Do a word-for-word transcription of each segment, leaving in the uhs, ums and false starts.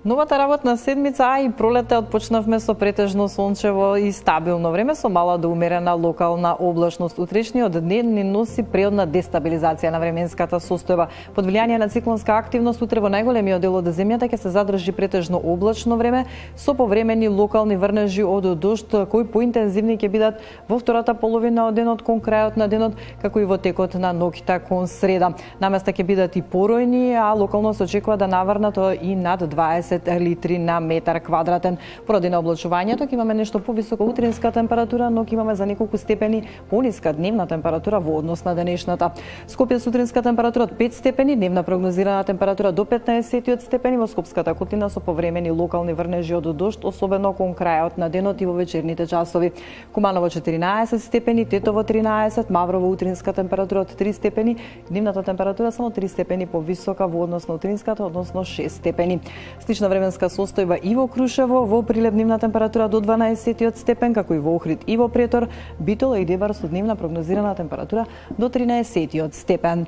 Новата работна седмица, а и пролете отпочнавме со претежно сончево и стабилно време со мала до умерена локална облачност. Утрешниот ден ни носи преодна дестабилизација на временската состојба. Под влијание на циклонска активност утре во најголемиот дел од земјата ќе се задржи претежно облачно време со повремени локални врнежи од дожд кои поинтензивни ќе бидат во втората половина од денот кон крајот на денот, како и во текот на ноќта кон среда. Наместа ќе бидат и поројни, а локално се очекува да наврнат и над дваесет литри на метар квадратен. Поради на облачувањето ќе имаме нешто повисока утринска температура, но ќе имаме за неколку степени пониска дневна температура во однос на денешната. Скопје сутринска температура од пет степени, дневна прогнозирана температура до петнаесет степени, во Скопската котлина со повремени локални врнежи од дожд, особено кон крајот на денот и во вечерните часови. Куманово четиринаесет степени, Тетово тринаесет, Маврово утринска температура од три степени, дневната температура само три степени повисока во однос на утринската, односно шест степени. Слична временска состојба и во Крушево, во Прилеп дневна температура до дванаесет степен, како и во Охрид и во Претор, Битола и Дебар со дневна прогнозирана температура до тринаесет степен.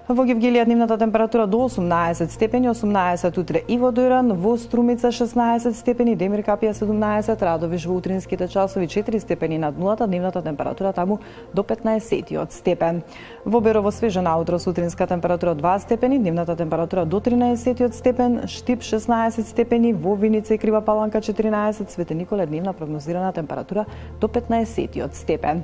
Во Гевгелија дневната температура до осумнаесет степени, осумнаесет утре и во Дојран, во Струмица шеснаесет степени, Демир Капија седумнаесет, Радовиш во утринските часови четири степени над нулата, дневната температура таму до петнаесет степен. Во Берово свежа наутро сутринска температура два степени, дневната температура до тринаесет степен, Штип шеснаесет степени, во Виница и Крива Паланка четиринаесет, Свете Николе дневна прогнозирана температура до петнаесет степен.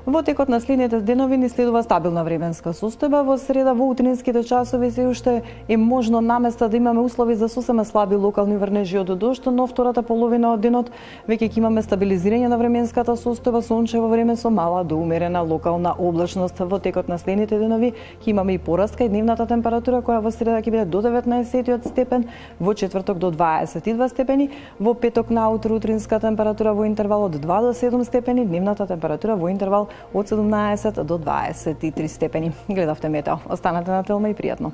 Во текот на следните денови ни следува стабилна временска состојба. Во среда во утринските часови се уште е можно наместа да имаме услови за сосема слаби локални врнежи од дожд, но втората половина од денот веќе ќе имаме стабилизирање на временската состојба, сончево време со мала до умерена локална облачност. Во текот на следните денови ќе имаме и пораска и дневната температура која во среда ќе биде до деветнаесет степен, во четврток до дваесет и два степени, во петок наутро утринска температура во интервал од два до седум степени, дневната температура во интервал од седумнаесет до дваесет и три степени. Гледавте Метео. Останете на Телма и пријатно.